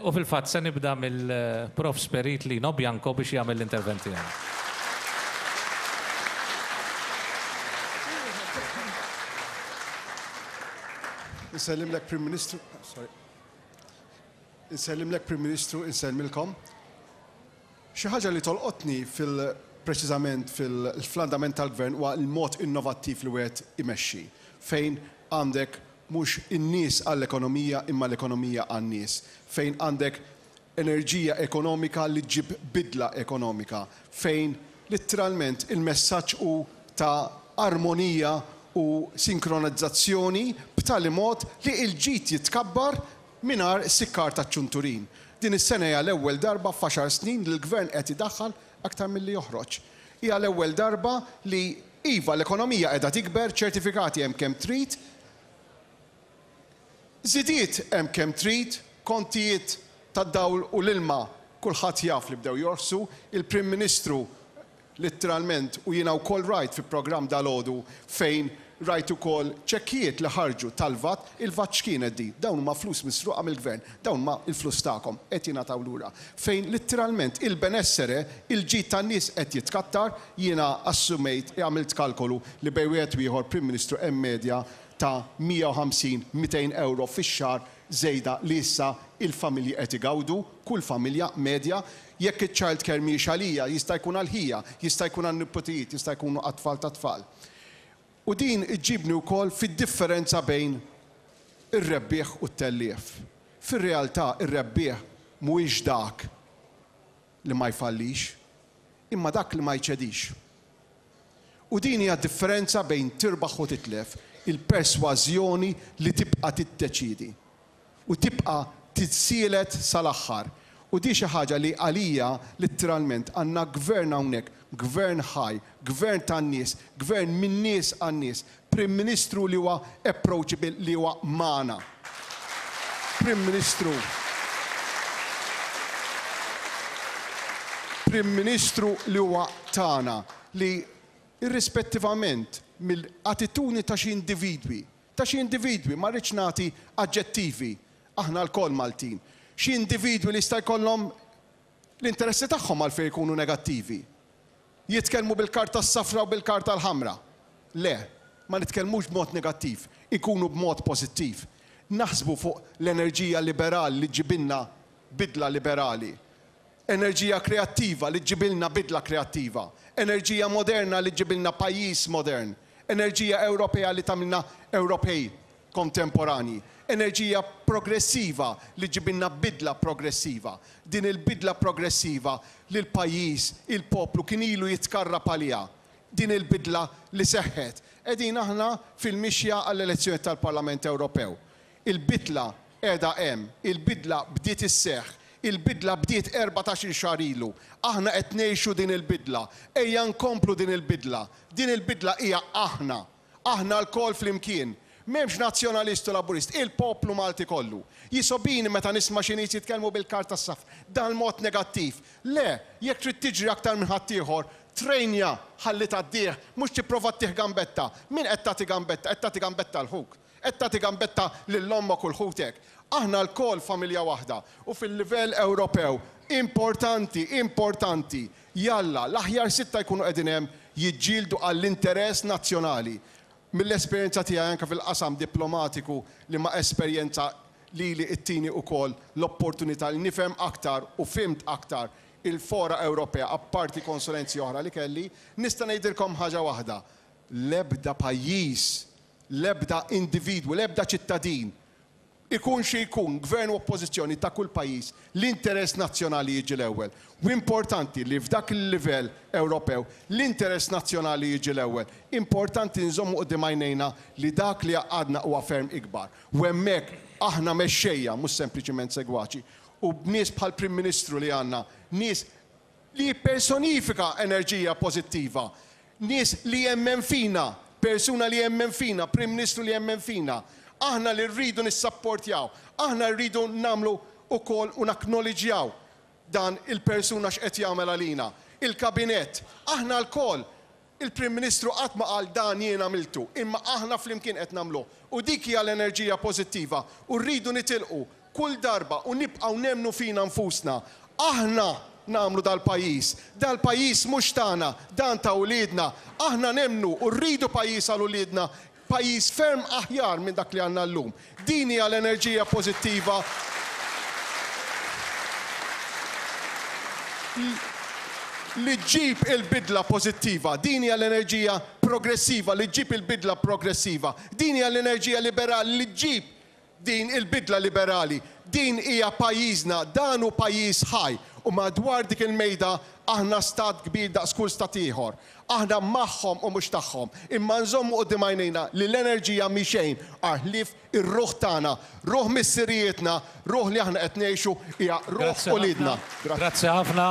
U fil-fatt se nibda mill-Profs Perit Lino Bianco biex jagħmel l-intervent tiegħu. Insellimlek Prim Ministru, sorry. Insellimlek Prim Ministru, insellmilkom. Xi ħaġa li tolqotni fil preċiżament fil-fl-andament tal-Gvern huwa l-mod innovattiv li wieħed imexxi, fejn għandek mhux in-nies għall-ekonomija imma l-ekonomija għan-nies, fejn għandek enerġija ekonomika li ġġib bidla ekonomika, fejn litteralment il-messaġġ hu ta' armonija u sinkronizzazzjoni b'tali mod li l-ġid jitkabbar mingħajr sikkar taċ-ċunturin. Din is-sena hija l-ewwel darba f'għaxar snin li l-Gvern qed idaħħal aktar milli joħroġ. Hija l-ewwel darba li, iva, l-ekonomija qiegħda tikber, ċertifikati hemm kemm trid, żidiet hemm kemm trid, kontijiet tad-dawl u l-ilma kulħadd jaf li bdew jorħsu, il-Prim Ministru Litteralment, u jiena wkoll rajt fi programm dalgħodu fejn rajt ukoll ċekkijiet li ħarġu tal-VAT, il-VAT x'kienet din? Dawn huma flus misruqa mill-Gvern, dawn huma l-flus tagħkom, qed jingħataw lura. Fejn litteralment il-benessere, il-ġid tan-nies qed jitkattar, jiena assumejt, għamilt kalkolu li bejn wieħed u ieħor Prim Ministru hemm medja ta' 150, 200 ewro fix-xahar żejda li issa il-familji qed igawdu, kull familja medja. Jekk iċ-child care mhijiex għalija, jista' jkun għal ħija, jista' jkun għan-niputijiet, jista' jkunu għat-tfal tat-tfal. U din iġġibni wkoll fid-differenza bejn ir-rebbieħ u t-tellief. Fir-realtà ir-rebbieħ mhuwiex dak li ma jfallix, imma dak li ma jċedix. U din hija d-differenza bejn tirbaħ u titlef, il-persważjoni li tibqa' tiddeċiedi u tibqa' tissielet sal-aħħar. U di xi ħaġa li għalija litteralment għandna gvern hawnhekk, gvern ħaj, gvern tan-nies, gvern min-nies għan-nies, Prim Ministru li huwa approachable li huwa magħna. Prim Ministru Prim Ministru li huwa tagħna li irrispettivament mill-attitudni ta' xi individwi, ta' xi individwi, ma rridx nagħti aġġettivi, aħna lkoll Maltin, xi individwi li jista' jkollhom l-interessi tagħhom għalfejn ikunu negattivi. Jitkellmu bil-karta s-safra u bil-karta l-ħamra. Le, ma nitkellmux b'mod negattiv, inkunu b'mod pożittiv. Naħsbu fuq l-enerġija liberali li ġġibilna bidla liberali. Enerġija kreattiva li ġġibilna bidla kreattiva. Enerġija moderna li ġġibilna pajjiż modern. Enerġija Ewropea li tagħmilna Ewropej kontemporanji. Enerġija progressiva li ġġibilna bidla progressiva. Din il-bidla progressiva li l-pajjiż, il-poplu kien ilu jitkarrab għaliha. Din il-bidla li seħħet. Qegħdin aħna fil-mixja għall-elezzjonijiet tal-Parlament Ewropew. Il-bidla qiegħda hemm. Il-bidla bdiet isseħħ. Il-bidla bdiet 14-il xahar ilu. Aħna qed ngħixu din il-bidla. Ejja nkomplu din il-bidla. Din il-bidla hija aħna. Aħna lkoll flimkien. M'hemmx Nazzjonalist u Laburist, il-poplu Malti kollu. Jisgħobini meta nisma' xi nies jitkellmu bil-karta s-safra, dal-mod negattiv. Le, jekk trid tiġri aktar minn ħaddieħor, trejnja ħalli tgħaddih, mhux tipprova ttih gambetta. Min qed tagħti gambetta? Qed tagħti gambetta 'l ħuk. Qed tagħti gambetta lil ommok u 'l ħutek. Aħna lkoll familja waħda u fil-livell Ewropew importanti, importanti, Jalla, l-aħjar sitta jkunu qegħdin hemm jiġġieldu għall-interess nazzjonali. Mill-esperjenza tiegħi anke fil-qasam diplomatiku li ma esperjenza lili ttini ukoll l-opportunità li nifhem aktar u fhimt aktar il-fora Ewropea apparti konsulenzi oħra li kelli, nista' ngħidilkom ħaġa waħda, l-ebda pajjiż, l-ebda individwu, l-ebda ċittadin Ikun xi jkun, gvern u oppożizzjoni ta' kull pajjiż, l-interess nazzjonali jiġi l-ewwel. U importanti li f'dak il-livell Ewropew, l-interess nazzjonali jiġi l-ewwel. Importanti nżommu quddiem għajnejna li dak li jgħaqqadna huwa ferm ikbar. U hemmhekk aħna mexxejja, mhux sempliċiment segwaċi. U b'nies bħall-Prim Ministru li għandna, nies li jippersonifika enerġija pożittiva, nies li jemmen fina, persuna li jemmen fina, Prim Ministru li jemmen fina. Aħna li rridu nissapportjaw, aħna rridu nagħmlu wkoll u nacknowledġjaw dan il-persuna x'qed jagħmel għalina. Il-Kabinett, aħna lkoll, il-Prim Ministru qatt ma qal dan jien għamiltu, imma aħna flimkien qed nagħmluh. U dik hija l-enerġija pożittiva u rridu nitilqu. Kull darba u nibqgħu nemmnu fina nfusna. Aħna nagħmlu dal-pajjiż. Dal-pajjiż mhux tagħna, dan ta' uliedna. Aħna nemmnu u rridu pajjiż għal uliedna, pajjiż ferm aħjar minn dak li għandna llum. Din hija l-enerġija pożittiva li ġġib il-bidla pożittiva. Din hija l-enerġija progressiva li ġġib il-bidla progressiva. Din hija l-enerġija liberali li ġġib din il-bidla liberali. Din hija pajjiżna, dan hu pajjiż ħaj u madwar dik il-mejda aħna stat kbir daqs kull stat ieħor. Aħna magħhom u mhux tagħhom. Imma nżommu quddiem għajnejna li l-enerġija mhi xejn ħlief ir-ruħ tagħna, ruħ missirijietna, ruħ li aħna qed ngħixu hija ruħ Grazzi ħafna. uliedna. Grazzi. Grazzi ħafna.